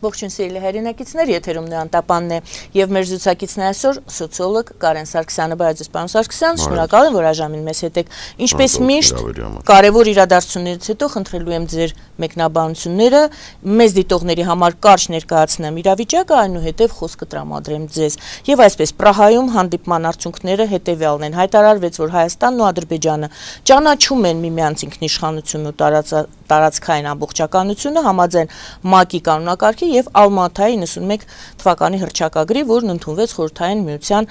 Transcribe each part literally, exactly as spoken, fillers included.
Ողջույն սիրելի հայրենակիցներ, եթերում Անտապանն է եւ մեր զրուցակիցն է այսօր սոցիոլոգ Կարեն Սարգսյանը։ Բարև պարոն Սարգսյան, շնորհակալ եմ, որ այժմ մեզ հետ եք։ Ինչպես միշտ, կարևոր իրադարձություններից հետո խնդրելու եմ ձեր մեկնաբանությունները, մեծ դիտողների համար կարճ ներկայացնեմ իրավիճակը, այնուհետև խոսքը տրամադրեմ ձեզ։ Եվ այսպես Պրահայում հանդիպման արդյունքները հետեւյալն են։ Հայտարարվեց, որ Հայաստանն ու Ադրբեջանը ճանաչում են միմյանց ինքնիշխանությունն ու տարածքային ամբողջականությունը համաձայն ՄԱԿ-ի կանոնակարգի եւ Ալմատայի իննսունմեկ թվականի հռչակագրի, որն ընդունվեց Խորհրդային Միության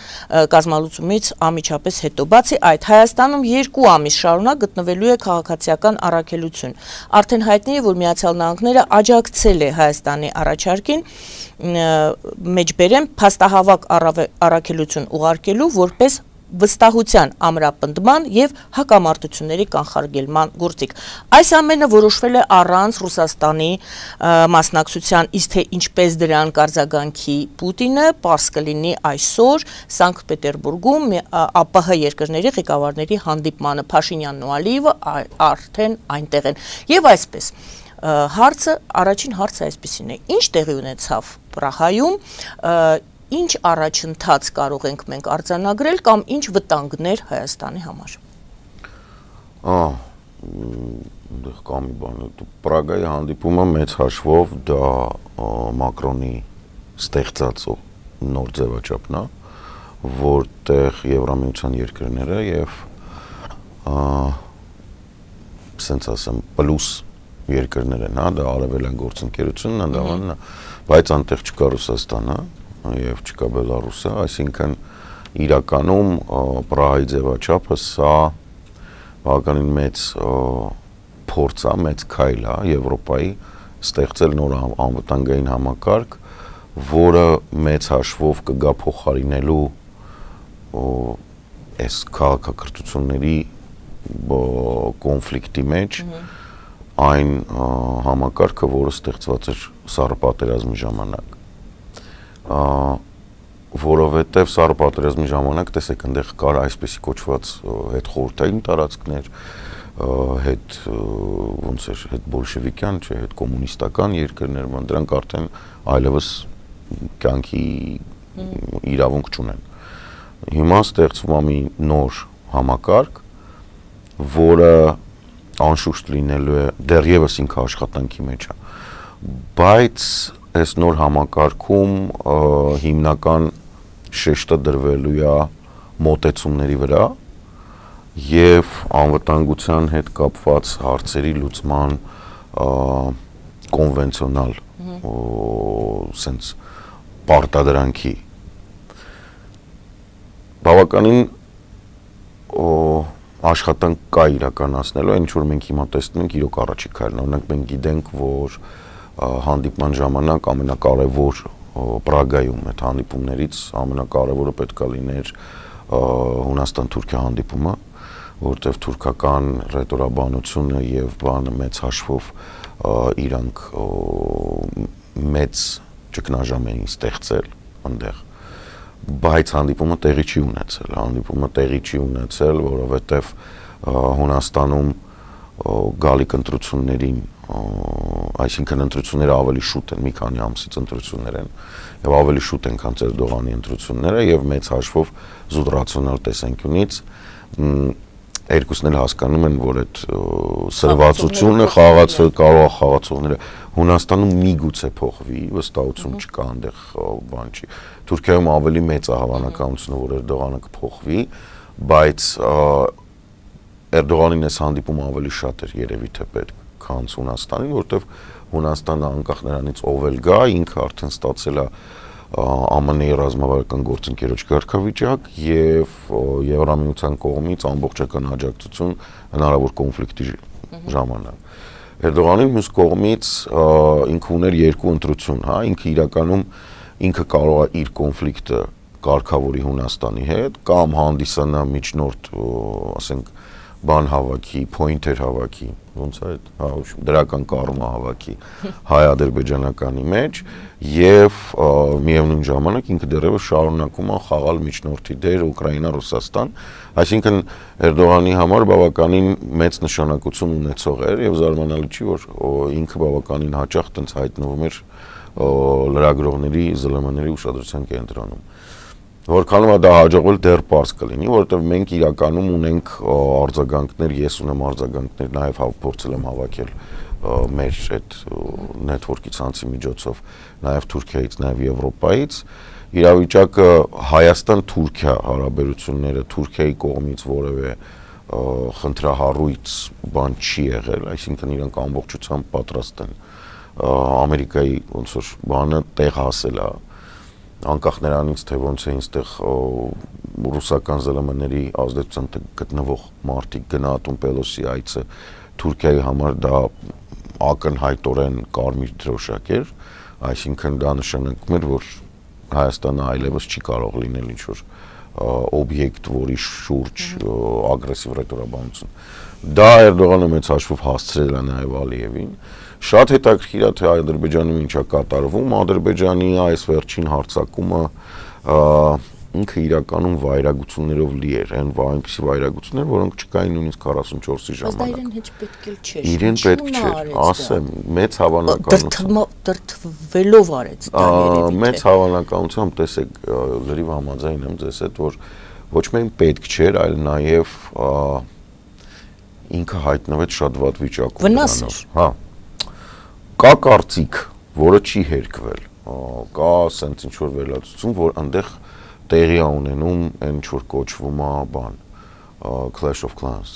կազմալուծումից անմիջապես հետո։ Բացի այդ, Հայաստանում երկու ամիս շարունակ գտնվելու է քաղաքացիական առաքելություն։ Արդեն հայտնի է, որ Միացյալ Նահանգները աջակցել է Հայաստանի առաջարկին մեջբերեմ փաստահավաք առաքելություն ուղարկելու որպես վստահության ամրապնդման եւ հակամարտությունների կանխարգելման գործիք։ Այս ամենը որոշվել է առանց Ռուսաստանի մասնակցության, իսկ թե ինչպես դրան կարձագանքի Պուտինը, պարզ կլինի այսօր Սանկտ Պետերբուրգում ԱՊՀ երկրների ղեկավարների հանդիպմանը։ Փաշինյանն ու Ալիևը արդեն այնտեղ են։ Եվ այսպես հարցը, առաջին հարցը այսպեսին է. ինչ տեղի ունեցավ Պրահայում, ինչ առաջընթաց կարող ենք մենք արձանագրել կամ ինչ վտանգներ Հայաստանի համար։ Ահա, կա մի բան, Պրագայի հանդիպումը մեծ հաշվով դա Մակրոնի ստեղծած նոր ձևաչափն է, որտեղ Եվրամիության երկրները եւ ասենց ասեմ պլյուս երկրներ են, հա, դա արևելյան գործընկերությունն է, դա, բայց անտեղ չկա Ռուսաստանը եւ չկա Բելարուսը, այսինքն իրականում Պրահայի ձևաչափը սա բավականին մեծ փորձ է, մեծ քայլ է Եվրոպայի ստեղծել նոր անվտանգային համակարգ, որը մեծ հաշվով կգա փոխարինելու այս քաղաքակրթությունների կոնֆլիկտի մեջ այն համակարգը, որը ստեղծված էր Սառը պատերազմի ժամանակ։ Որովհետև Սառը պատերազմի ժամանակ տեսեք այնտեղ կար այսպեսի կոչված հետ խորհրդային տարածքներ, հետ ոնց էր, հետ բոլշևիկյան, չէ, հետ կոմունիստական երկրներ, դրանք արդեն այլևս կյանքի իրավունք չունեն։ Հիմա ստեղծվում է մի նոր համակարգ, որը անշուշտ լինելու է դեռևս ինքը աշխատանքի մեջ է, բայց այս նոր համակարգում հիմնական շեշտը դրվելու է մոտեցումների վրա եւ անվտանգության հետ կապված հարցերի լուծման կոնվենցիոնալ սենց պարտադրանքի բավականին աշխատանք կա իրականացնելու, ինչ որ մենք հիմա տեսնում ենք իրոք առաջի քայլն, օրինակ մենք գիտենք, որ հանդիպման ժամանակ ամենակարևոր Պրագայում այդ հանդիպումներից ամենակարևորը պետք է լիներ Հունաստան-Թուրքիա հանդիպումը, որտեղ թուրքական ռետորաբանությունը եւ բանը մեծ հաշվով իրանք մեծ ճգնաժամ էին ստեղծել այնտեղ, բայց հանդիպումը տեղի չի ունեցել, հանդիպումը տեղի չի ունեցել, որովհետեւ Հունաստանում գալիք ընտրություններին, այսինքն ընտրությունները ավելի շուտ են, մի քանի ամսից ընտրություններ են եւ ավելի շուտ են, քան Էրդողանի ընտրությունները եւ մեծ հաշվով զուտ ռացիոնալ տեսանկյունից երկուսն էլ հասկանում են, որ այդ սրվածությունը խաղացող կարող է խաղացողները Հունաստանում միգուցե փոխվի, վստահություն չկա այնտեղ բան չի։ Թուրքիայում ավելի մեծ է հավանականությունը, որ Էրդողանը կփոխվի, բայց Էրդողանին այս հանդիպումը ավելի շատ էր երևի թե պետք, քան Հունաստանին, որովհետև Հունաստանը անկախ նրանից ով էլ գա, ինքը արդեն ստացել է ԱՄՆ-ի ռազմավարական գործընկերոջ կարգավիճակ եւ Եվրամիության կողմից ամբողջական աջակցություն հնարավոր կոնֆլիկտի ժամանակ։ Էրդողանի մյուս կողմից ինքը ուներ երկու ընտրություն, հա, ինքը իրականում ինքը կարող է իր կոնֆլիկտը կարգավորի Հունաստանի հետ կամ հանդիսանա միջնորդ, ասենք, բան հավաքի, pointer հավաքի, ոնց է այդ, հա, դրական կառումը հավաքի հայ-ադրբեջանականի մեջ եւ միևնույն ժամանակ ինքը դեռևս շարունակում է խաղալ միջնորդի դեր Ուկրաինա-Ռուսաստան, այսինքն Էրդողանի համար բավականին մեծ նշանակություն ունեցող էր եւ զարմանալի չի, որ ինքը բավականին հաճախ տենց հայտնվում էր լրագրողների, զլ էմ էների ուշադրության կենտրոնում։ Որքանով է դա հաջողվել դեռ պարզ կլինի, որովհետև մենք իրականում ունենք արձագանքներ, ես ունեմ արձագանքներ, նաև փորձել եմ հավաքել մեր այդ նետվորքի ցանցի միջոցով, նաև Թուրքիայից, նաև Եվրոպայից, իրավիճակը Հայաստան-Թուրքիա հարաբերությունները Թուրքիայի կողմից որևէ խնդրահարույց բան չի եղել, այսինքն իրանք ամբողջությամբ պատրաստ են Ամերիկայի ոնց որ բանը տեղ հասել է, անկախ նրանից թե ոնց է ինստեղ ռուսական զլ էմ էների ազդեցության գտնվող մարդիկ գնահատում Պելոսի այցը Թուրքիայի համար դա ակնհայտորեն կարմիր դրոշակ էր, այսինքն դա նշանակում էր, որ Հայաստանը այլևս չի կարող լինել ինչ-որ օբյեկտ, որի շուրջ ագրեսիվ ռետորաբանություն։ Դա Էրդողանը մեծ հաշվով հասցրել է նաև Ալիևին։ Շատ հետաքրքիր է, թե Ադրբեջանում ինչ է կատարվում, Ադրբեջանի այս վերջին հարձակումը ինքը իրականում վայրագություններով լի էր, այն այնպիսի վայրագություններ, որոնք չկային նույնիսկ քառասունչորսի ժամանակ։ Բայց դա իրեն հեչ պետք էլ չէր։ Իրեն պետք չէր, ասեմ, մեծ հավանականությամբ դրթվելով արեց դա երևի։ Մեծ հավանականությամբ տեսեք, լրիվ համաձայն եմ ձեզ հետ, որ ոչ միայն պետք չէր, այլ նաև ինքը հայտնվեց շատ վատ վիճակում։ Վնաս էր։ Հա։ Կա կարծիք, որը չի հերկվել, կա սենց ինչ-որ վերլուծություն, որ այնտեղ տեղի է ունենում այն ինչ-որ կոչվում է բան, Clash of Clans,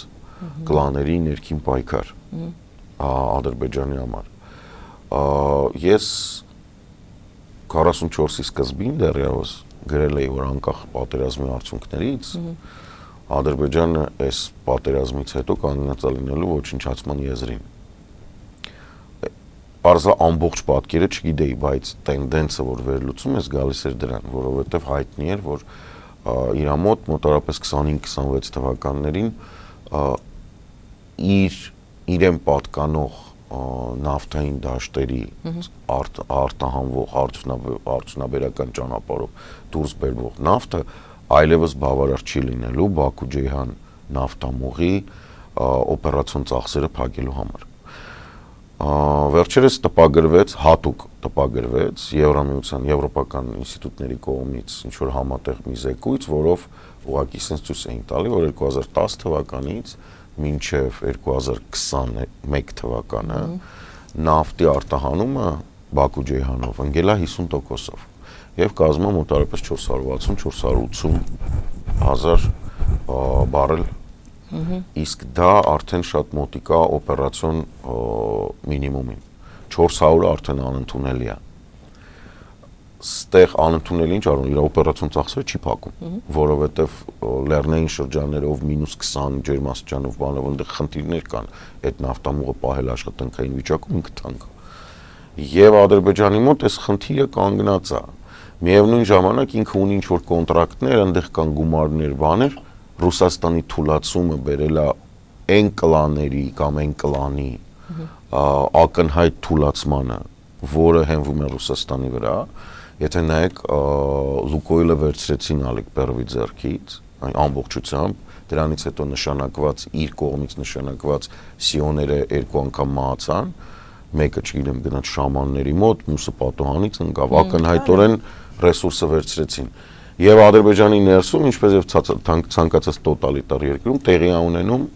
կլաների ներքին պայքար Ադրբեջանի համար։ Ես քառասունչորսի սկզբին դեռևս գրել էի, որ անկախ պատերազմի արդյունքներից Ադրբեջանը այս պատերազմից հետո կանգնած է լինելու ոչնչացման եզրին։ Պարզա ամբողջ պատկերը չգիտեի, բայց տենդենսը, որ վերլուծում ես, գալիս էր դրան, որովհետև հայտնի էր, որ իր մոտ մոտավորապես քսանհինգ քսանվեց թվականներին իր իրեն պատկանող նավթային դաշտերի արտահանվող արդյունաբերական ճանապարհով դուրս բերվող նավթը այլևս բավարար չի լինելու Բաքու-Ջեյհան նավթամուղի օպերացիոն ծախսերը փակելու համար։ Վերջերս տպագրվեց, հատուկ տպագրվեց Եվրամիության եվրոպական ինստիտուտների կողմից ինչ-որ համատեղ մի զեկույց, որով ուղղակի sense ցույց էին տալի, որ երկու հազար տասը թվականից մինչև երկու հազար քսաներկու թվականը նավթի արտահանումը Բաքու-Ջեյհանով ընկել է հիսուն տոկոսով եւ կազմում մոտավորապես չորս հարյուր վաթսուն չորս հարյուր ութսուն հազար բարել, իսկ դա արդեն շատ մոտիկա օպերացիոն մինիմումին, չորս հարյուրը արդեն անընդունելի է։ Ստեղ անընդունելի ինչ արում, իր օպերացիոն ծախսերը չի փակում, որովհետև լեռնային շրջաններով մինուս քսան ջերմաստիճանով բանով այնտեղ խնդիրներ կան, այդ նավթամուղը պահել աշխատանքային վիճակում ինքը թանկ է։ Եվ Ադրբեջանի մոտ այս խնդիրը կանգնած է։ Միևնույն ժամանակ ինքը ունի ինչ-որ կոնտրակտներ, այնտեղ կան գումարներ, բաներ, Ռուսաստանի թուլացումը բերել է այն կլաների կամ այն կլանի ակնհայտ թուլացմանը, որը հենվում է Ռուսաստանի վրա, եթե նայեք Լուկոյլը վերցրեցին Ալեկ Պերովի ձեռքից, այն ամբողջությամբ, դրանից հետո նշանակված իր կողմից նշանակված սիոները երկու անգամ մահացան, մեկը չգիտեմ գնաց շամանների մոտ, մյուսը պատոհանից ընկավ, ակնհայտորեն ռեսուրսը վերցրեցին։ Եվ Ադրբեջանի ներսում, ինչպես եւ ցանկացած տոտալիտար երկրում տեղի է ունենում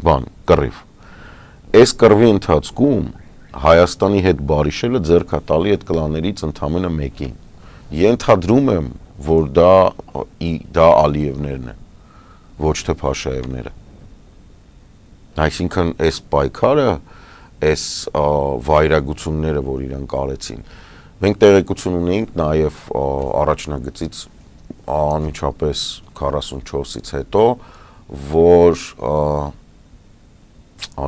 բան, կռիվ։ Այս կռվի ընթացքում Հայաստանի հետ բարիշելը ձեռք է տալի այդ կլաներից ընդամենը մեկին։ Ենթադրում եմ, որ դա դա Ալիևներն են, ոչ թե Փաշաևները։ Այսինքն այս պայքարը, այս վայրագությունները, որ իրանք արեցին, մենք տեղեկություն ունեինք նաև առաջնագծից անմիջապես քառասունչորսից հետո, որ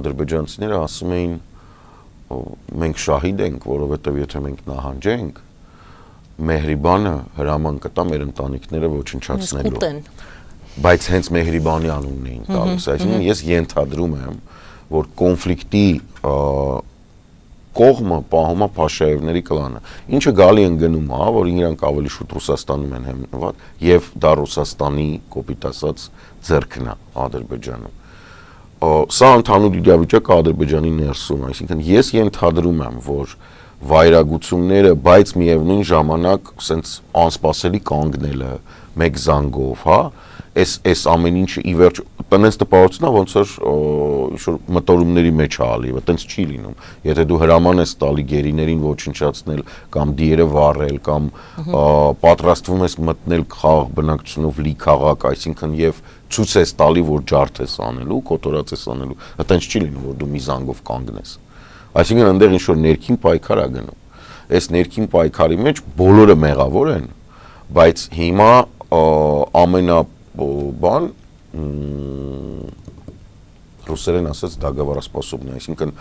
ադրբեջանցիները ասում էին մենք շահիդ ենք, որովհետև եթե մենք նահանջենք, Մեհրիբանը հրաման կտա մեր ընտանիքները ոչնչացնելու։ Բայց հենց Մեհրիբանի անունն էին տալիս, այսինքն ես ենթադրում եմ, որ կոնֆլիկտի կողմը պահում է Փաշաևների կլանը, ինչը գալի են գնում, հա, որ իրանք ավելի շուտ Ռուսաստանում են հիմնված, եւ դա Ռուսաստանի կոպիտ ասած ձեռքն է Ադրբեջանում։ Սա ընդհանուր իրավիճակը Ադրբեջանի ներսում, այսինքն ես ենթադրում եմ, որ վայրագությունները, բայց միևնույն ժամանակ սենց անսպասելի կանգնելը մեկ զանգով, հա, այս այս ամեն ինչը ի վերջ տնես տպավորությունա ոնց որ ինչ-որ մտորումների մեջ է ալիվը, տենց չի լինում։ Եթե դու հրաման ես տալի գերիներին ոչնչացնել կամ դիերը վառել կամ պատրաստվում ես մտնել խաղաղ բնակչությունով լի քաղաք, այսինքն եւ ցույց ես տալի, որ ջարդ ես անելու, կոտորած ես անելու, այտենց չի լինում, որ դու մի զանգով կանգնես։ Այսինքն այնտեղ ինչ որ ներքին պայքար է գնում։ Այս ներքին պայքարի մեջ բոլորը մեղավոր են, բայց հիմա ամենա բան ռուսերեն ասած դագավարասպասոբն է, այսինքն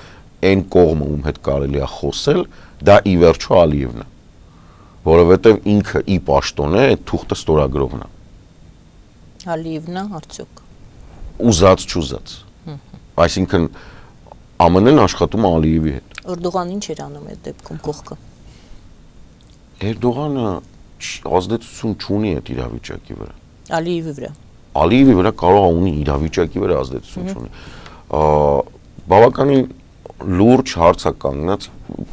այն կողմը ում հետ կարելի է խոսել, դա ի վերջո Ալիևն է, որովհետև ինքը ի պաշտոն է, այդ թուղթը ստորագրողն է։ Ալիևն է, արդյոք։ Ուզած չուզած։ Այսինքն Ամեն են աշխատում Ալիևի հետ։ Էրդողան ինչ էր անում այդ դեպքում կողքը։ Էրդողանը ազդեցություն չունի այդ իրավիճակի վրա։ Ալիևի վրա։ Ալիևի վրա կարող է ունի իրավիճակի վրա ազդեցություն չունի։ Բավականին լուրջ հարց է կանգնած,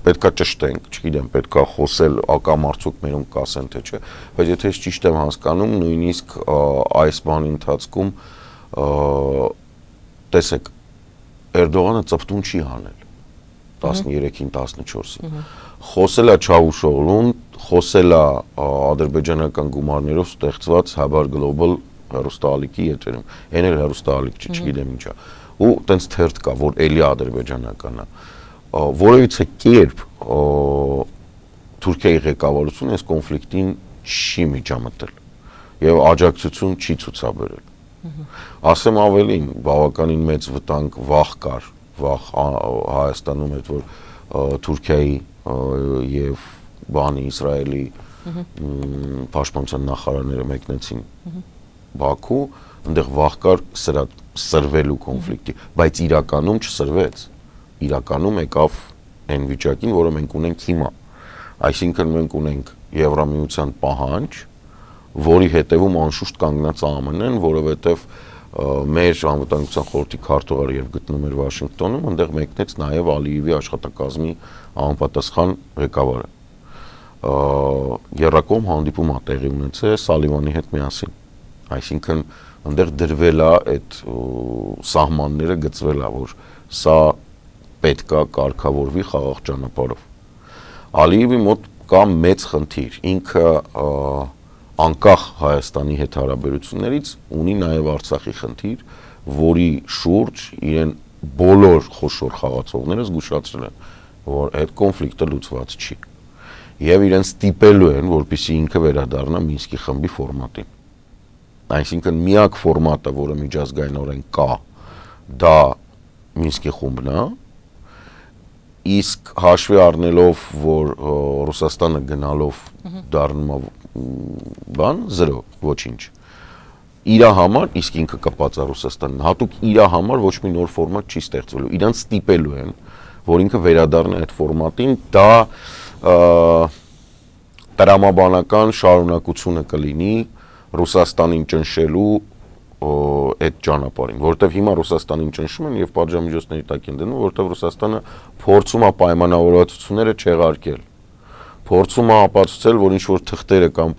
պետքա ճշտենք, չգիտեմ, պետքա խոսել ակամարցուկ մերում կասեն թե չէ, բայց եթե ես ճիշտ եմ հասկանում, նույնիսկ այս բանի ընթացքում տեսեք Էրդողանը ծպտուն չի հանել տասներեքին տասնչորսին խոսել է Չավուշօղլուն, խոսել է ադրբեջանական գումարներով ստեղծված Habar Global հեռուստաալիքի եթերում, այն էլ հեռուստաալիք չի, չգիտեմ ինչա, ու տենց թերթ կա, որ էլի ադրբեջանական է, որևիցե կերպ Թուրքիայի ղեկավարությունը այս կոնֆլիկտին չի միջամտել եւ աջակցություն չի ցուցաբերել։ Ասեմ ավելին, բավականին մեծ վտանգ վախ կար, վախ Հայաստանում էր, որ Թուրքիայի եւ բանի Իսրայելի պաշտպանության նախարարները մեկնեցին Բաքու, այնտեղ վախ կար սրա սրվելու կոնֆլիկտի, բայց իրականում չսրվեց։ Իրականում եկավ այն վիճակին, որը մենք ունենք հիմա։ Այսինքն մենք ունենք Եվրամիության պահանջ, որի հետևում անշուշտ կանգնած ԱՄՆ-ն, որովհետև մեր անվտանգության խորհրդի քարտուղարը եւ գտնում էր Վաշինգտոնում, այնտեղ մեկնեց նաեւ Ալիևի աշխատակազմի անպատասխան ղեկավարը։ Երրակողմ հանդիպում է տեղի ունեցել Սալիվանի հետ միասին։ Այսինքն այնտեղ դրվել է այդ սահմանները գծվել է, որ սա պետք է կարգավորվի խաղաղ ճանապարհով։ Ալիևի մոտ կա մեծ խնդիր, ինքը անկախ Հայաստանի հետ հարաբերություններից ունի նաև Արցախի խնդիր, որի շուրջ իրեն բոլոր խոշոր խաղացողները զգուշացրել են, որ այդ կոնֆլիկտը լուծված չի։ Եվ իրեն ստիպելու են, որպեսզի ինքը վերադառնա Մինսկի խմբի ֆորմատին։ Այսինքն միակ ֆորմատը, որը միջազգայինորեն կա, դա Մինսկի խումբն է, իսկ հաշվի առնելով, որ Ռուսաստանը գնալով դառնում է բան զրո, ոչինչ։ Իրա համար, իսկ ինքը կապած է Ռուսաստանին, հատուկ իրա համար ոչ մի նոր ֆորմատ չի ստեղծվելու։ Իրանց ստիպելու են, որ ինքը վերադառնա այդ ֆորմատին, դա տրամաբանական շարունակությունը կլինի Ռուսաստանին ճնշելու այդ ճանապարհին, որտեվ հիմա Ռուսաստանին ճնշում են եւ պատժամիջոցների տակ են դնում, որտեվ Ռուսաստանը փորձում է պայմանավորվածությունները չեղարկել։ Փորձում է ապացուցել, որ ինչ որ թղթերը կամ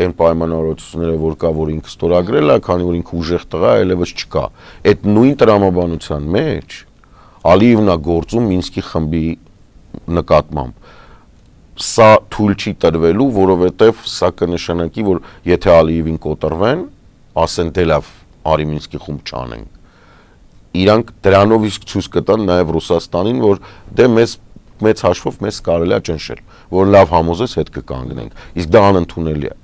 այն պայմանավորվածությունները, որ կա, որ ինքը ստորագրել է, քանի որ ինքը ուժեղ տղա է, այլևս չկա։ Այդ նույն տրամաբանության մեջ Ալիևն է գործում Մինսկի խմբի նկատմամբ։ Սա թույլ չի տրվելու, որովհետև սա կնշանակի, որ եթե Ալիևին կոտրվեն, ասեն դե լավ, արի Մինսկի խումբ չանենք։ Իրանք դրանով իսկ ցույց կտան նաև Ռուսաստանին, որ դե մեզ մեծ հաշվով մեզ կարելի է ճնշել, որ լավ համոզես հետ կկանգնենք, իսկ դա անընդունելի է։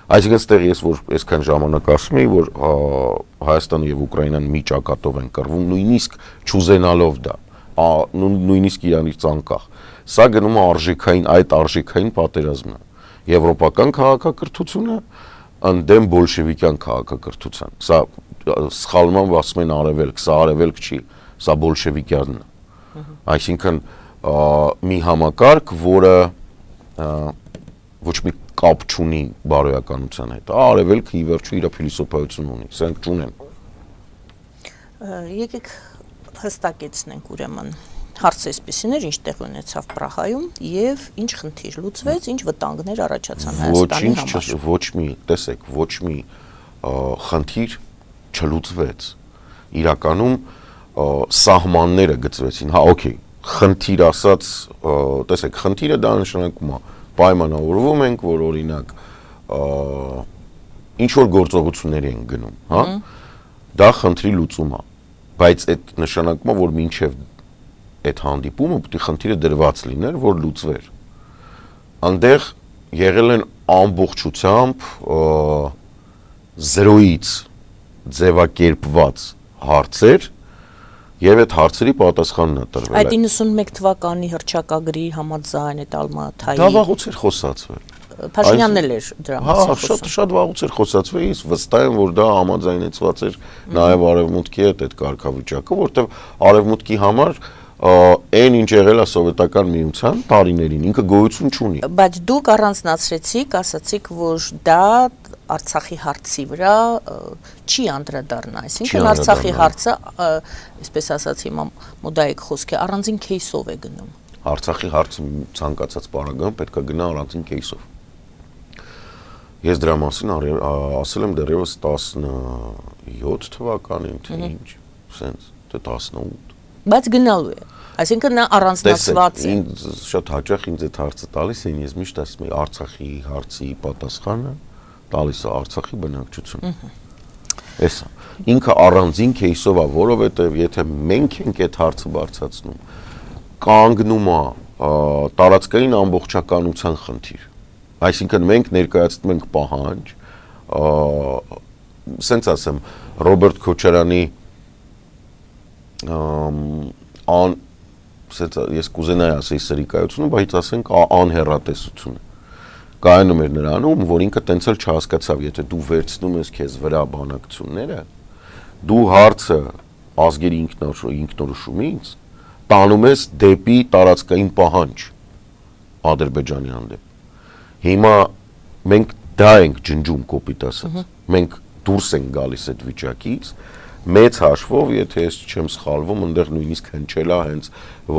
Այսինքն ստեղ ես որ այսքան ժամանակ ասում եի, որ Հայաստանը եւ Ուկրաինան մի ճակատով են կռվում, նույնիսկ չուզենալով դա, նույնիսկ իրանից անկախ։ Սա գնում է արժեքային, այդ արժեքային պատերազմն է։ Եվրոպական քաղաքակրթությունը ընդդեմ բոլշևիկյան քաղաքակրթության։ Սա սխալմամբ ասում են արևելք, սա արևելք չի, սա բոլշևիկյանն է։ Այսինքն մի համակարգ, որը ոչ մի կապ չունի բարոյականության հետ։ Արևելքը ի վերջո իր փիլիսոփայություն ունի, սրանք չունեն։ Եկեք հստակեցնենք ուրեմն հարցը էսպիսին էր, ինչ տեղ ունեցավ Պրահայում եւ ինչ խնդիր լուծվեց, ինչ վտանգներ առաջացան Հայաստանի համար։ Ոչ մի, տեսեք, ոչ մի խնդիր չլուծվեց։ Իրականում սահմանները գծվեցին, հա, օքեյ, խնդիր ասած, տեսեք, խնդիրը դա նշանակում է, պայմանավորվում ենք, որ օրինակ ինչ որ գործողությունների են գնում, հա, դա խնդրի լուծում է, բայց այդ նշանակում է, որ մինչև այդ հանդիպումը պետք է խնդիրը դրված լիներ, որ լուծվեր։ Այնտեղ եղել են ամբողջությամբ զրոյից ձևակերպված հարցեր եւ այդ հարցերի պատասխանն է տրվել։ Այդ իննսունմեկ թվականի հռչակագրի համաձայն այդ Ալմաթայի դա վաղուց էր խոսացվել։ Փաշինյանն էլ էր դրա մասին խոսում։ Հա, շատ շատ վաղուց էր խոսացվել, իսկ վստահ եմ, որ դա համաձայնեցված էր նաեւ Արևմուտքի հետ այդ կարգավիճակը, որտեղ Արևմուտքի համար այն ինչ եղել է սովետական միության տարիներին, ինքը գոյություն չունի։ Բայց դուք առանձնացրեցիք, ասացիք, որ դա Արցախի հարցի վրա չի անդրադառնա, այսինքն Արցախի հարցը, այսպես ասած հիմա մոդայիկ խոսք է, առանձին кейսով է գնում։ Արցախի հարցը ցանկացած պարագայում պետք է գնա առանձին кейսով։ Ես դրա մասին ասել եմ դեռևս տասնյոթ թվականին, թե ինչ, սենց, թե տասնութ։ Բայց գնալու է։ Այսինքն նա առանձնացված է։ Ինձ շատ հաճախ ինձ այդ հարցը տալիս են, ես միշտ ասում եմ Արցախի հարցի պատասխանը տալիս է Արցախի բնակչությունը։ Էսա։ Ինքը առանձին кейսով է, որովհետև եթե մենք ենք այդ հարցը բարձրացնում, կանգնում է տարածքային ամբողջականության խնդիր։ Այսինքն մենք ներկայացնում ենք պահանջ, սենց ասեմ, Ռոբերտ Քոչարյանի ան սենց ես կուզենայի ասեի սրիկայությունը, բայց ասենք անհեռատեսությունը։ Կայանում էր նրանում, որ ինքը տենց էլ չհասկացավ, եթե դու վերցնում ես քեզ վրա բանակցությունները, դու հարցը ազգերի ինքնորոշումից տանում ես դեպի տարածքային պահանջ Ադրբեջանի հանդեպ։ Հիմա մենք դա ենք ջնջում կոպիտ ասած։ Մենք դուրս ենք գալիս այդ վիճակից, մեծ հաշվով, եթե ես չեմ սխալվում, այնտեղ նույնիսկ հնչել է հենց,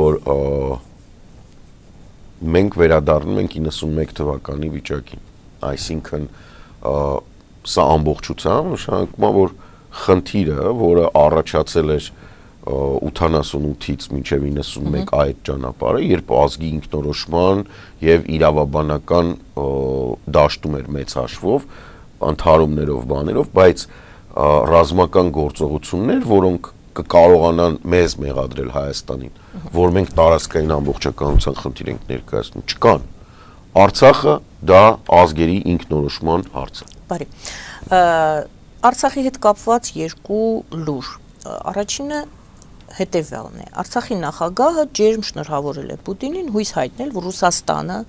որ մենք վերադառնում ենք իննսունմեկ թվականի վիճակին։ Այսինքն սա ամբողջությամբ նշանակում է, որ խնդիրը, որը առաջացել էր ութանասունութից մինչև իննսունմեկ այդ ճանապարհը, երբ ազգի ինքնորոշման եւ իրավաբանական դաշտում էր մեծ հաշվով, ընդհարումներով, բաներով, բայց ռազմական գործողություններ, որոնք կկարողանան մեզ մեղադրել Հայաստանին, որ մենք տարածքային ամբողջականության խնդիր ենք ներկայացնում, չկան։ Արցախը դա ազգերի ինքնորոշման հարց է։ Բարի։ Արցախի հետ կապված երկու լուր։ Առաջինը հետևյալն է. Արցախի նախագահը ջերմ շնորհավորել է Պուտինին, հույս հայտնել, որ Ռուսաստանը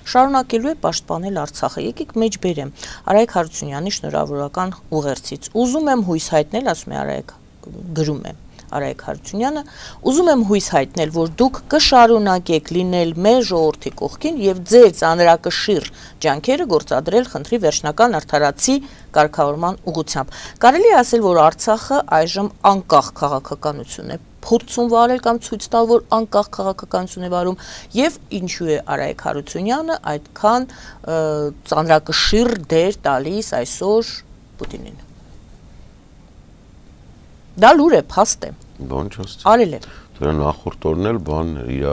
շարունակելու է պաշտպանել Արցախը։ Եկեք մեջ բերեմ Արայք Հարությունյանի շնորհավորական ուղերձից։ Ուզում եմ հույս հայտնել, ասում է Արայք, գրում է Արայք Հարությունյանը, ուզում եմ հույս հայտնել, որ դուք կշարունակեք լինել մեր ժողովրդի կողքին եւ ձեր ծանրակշիռ ջանքերը գործադրել խնդրի վերջնական արդարացի կարգավորման ուղղությամբ։ Կարելի է ասել, որ Արցախը այժմ անկախ քաղաքականություն է փորձում վարել կամ ցույց տալ, որ անկախ քաղաքականություն է վարում եւ ինչու է Արայք Հարությունյանը այդքան ծանրակշիռ դեր տալիս այսօր Պուտինին։ Դա լուր է, փաստ է։ Բան չասի։ Արել է։ Դրա նախորդ օրն էլ բանն էր, իր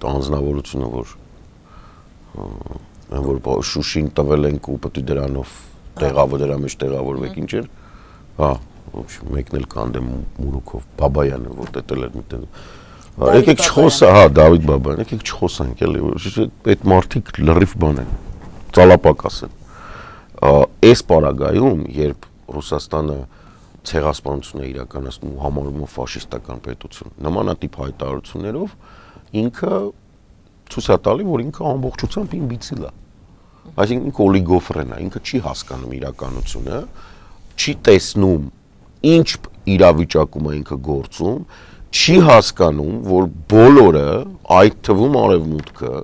տանձնավորությունը, որ այն որ Շուշին տվել ենք ու պետք է դրանով տեղավոր դրա մեջ տեղավորվեք, ինչ էր։ Հա, ոչ, մեկն էլ կանդեմ Մուրուկով, Բաբայանը, որ դետել էր միտեղ։ Եկեք չխոսա, հա, Դավիթ Բաբայան, եկեք չխոսանք էլի, այդ մարդիկ լրիվ բան են, ծալապակաս են։ Այս պարագայում, երբ Ռուսաստանը ցեղասպանություն է իրականացնում ու համարում ֆաշիստական պետություն, նմանատիպ հայտարարություններով ինքը ցույց է տալի, որ ինքը ամբողջությամբ իմբիցիլ է։ Այսինքն ինքը օլիգոֆրեն է, ինքը չի հասկանում իրականությունը, չի տեսնում ինչ իրավիճակում է ինքը գործում, չի հասկանում, որ բոլորը, այդ թվում Արևմուտքը,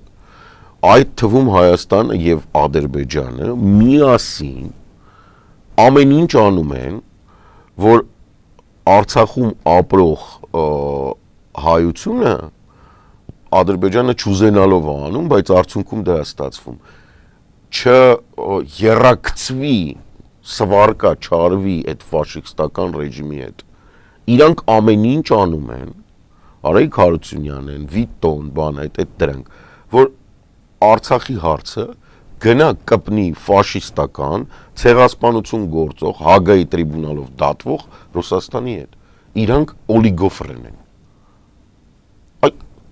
այդ թվում Հայաստանը եւ Ադրբեջանը միասին ամեն ինչ անում են, որ Արցախում ապրող հայությունը Ադրբեջանը չուզենալով անում, բայց արդյունքում դա է ստացվում։ Չերակցվի, սվարկա, չարվի այդ ֆաշիստական ռեժիմի հետ։ Իրանք ամեն ինչ անում են, Արայիկ Հարությունյանն, Վիտոն, բան այդ այդ դրանք, որ Արցախի հարցը գնա կպնի ֆաշիստական, ցեղասպանություն գործող, Հագայի տրիբունալով դատվող Ռուսաստանի հետ։ Իրանք օլիգոֆրեն են։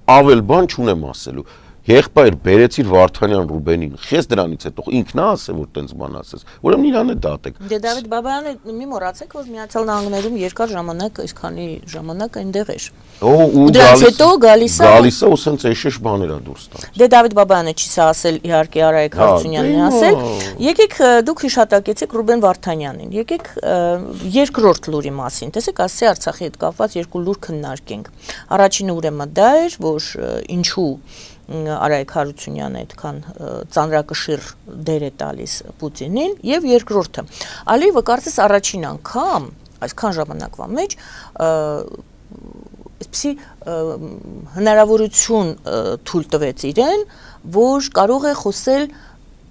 Ավել բան չունեմ ասելու։ Եղբայր բերեցիր Վարդանյան Ռուբենին, խես դրանից հետո ինքն է ասեմ, որ տենց բան ասես։ Ուրեմն իրան է դատեք։ Դե Դավիթ Բաբայանը մի մոռացեք, որ Միացյալ Նահանգներում երկար ժամանակ, այսքանի ժամանակ այնտեղ էր։ Ու դրանից հետո գալիս է գալիս է ու սենց էշեշ բաներ է դուրս տալիս։ Դե Դավիթ Բաբայանը չի սա ասել, իհարկե Արայիկ Հարությունյանն է ասել։ Եկեք դուք հիշատակեցեք Ռուբեն Վարդանյանին։ Եկեք երկրորդ լուրի մասին, տեսեք, ասի Արցախի հետ կապված երկու լուր քննարկենք։ Առաջինը ուրեմն դա էր, որ ինչու Արայիկ Հարությունյանը այդքան ծանրակշիռ դեր է տալիս Պուտինին եւ երկրորդը Ալիևը կարծես առաջին անգամ այսքան ժամանակվա մեջ այսպեսի հնարավորություն թույլ տվեց իրեն, որ կարող է խոսել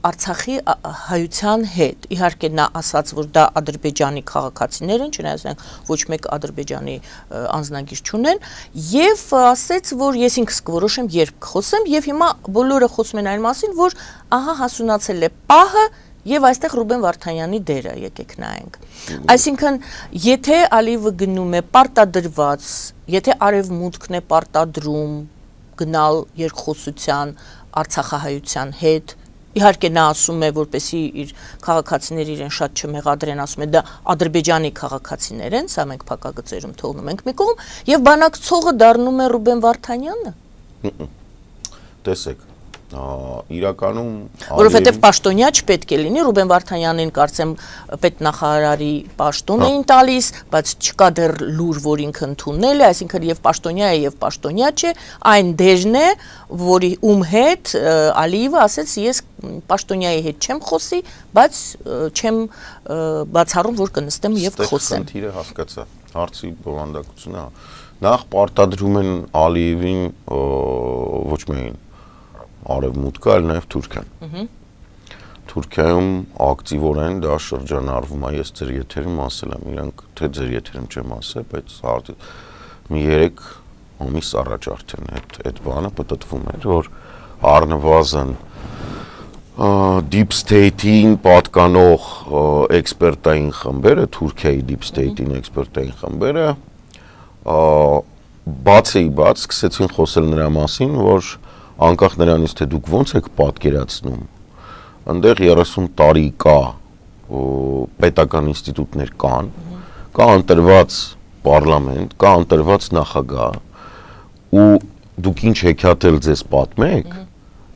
Արցախի հայության հետ, իհարկե նա ասաց, որ դա Ադրբեջանի քաղաքացիներ են, չնայած նրանք ոչ մեկ Ադրբեջանի անձնագիր չունեն, եւ ասեց, որ ես ինքս կորոշեմ երբ կխոսեմ, եւ հիմա բոլորը խոսում են այն մասին, որ ահա հասունացել է պահը եւ այստեղ Ռուբեն Վարդանյանի դերը եկեք նայենք։ Այսինքն, եթե Ալիևը գնում է պարտադրված, եթե արևմուտքն է պարտադրում գնալ երկխոսության Արցախահայության հետ, իհարկե նա ասում է, որպեսի իր քաղաքացիները իրեն շատ չմեղադրեն, ասում է դա Ադրբեջանի քաղաքացիներ են, սա մենք փակագծերում թողնում ենք մի կողմ, եւ բանակցողը դառնում է Ռուբեն Վարդանյանը։ Տեսեք, իրականում որովհետև պաշտոնյա չպետք է լինի, Ռուբեն Վարդանյանին կարծեմ պետնախարարի պաշտոն էին տալիս, բայց չկա դեռ լուր, որ ինքը ընդունել է, այսինքն եւ պաշտոնյա է եւ պաշտոնյա չէ, այն դերն է, որի ում հետ Ալիևը ասեց, ես պաշտոնյայի հետ չեմ խոսի, բայց չեմ բացառում, որ կնստեմ եւ կխոսեմ։ Խնդիրը հասկացա, հարցի բովանդակությունը նախ պարտադրում են Ալիևին ոչ միայն Արևմուտքը, այլ նաև Թուրքիան։ Թուրքիայում ակտիվորեն դա շրջանառվում է, ես ձեր եթերում ասել եմ, իրանք թե ձեր եթերում չեմ ասել, բայց մի երեք ամիս առաջ արդեն այդ բանը պտտվում էր, որ առնվազն Deep State-ին պատկանող էքսպերտային խմբերը, Թուրքիայի Deep State-ին էքսպերտային խմբերը բացի բաց սկսեցին խոսել նրա մասին, որ անկախ նրանից, թե դուք ոնց եք պատկերացնում, այնտեղ երեսուն տարի կա պետական ինստիտուտներ կան, կա ընտրված պարլամենտ, կա ընտրված նախագահ, ու դուք ինչ հեքիաթել ձեզ պատմեք,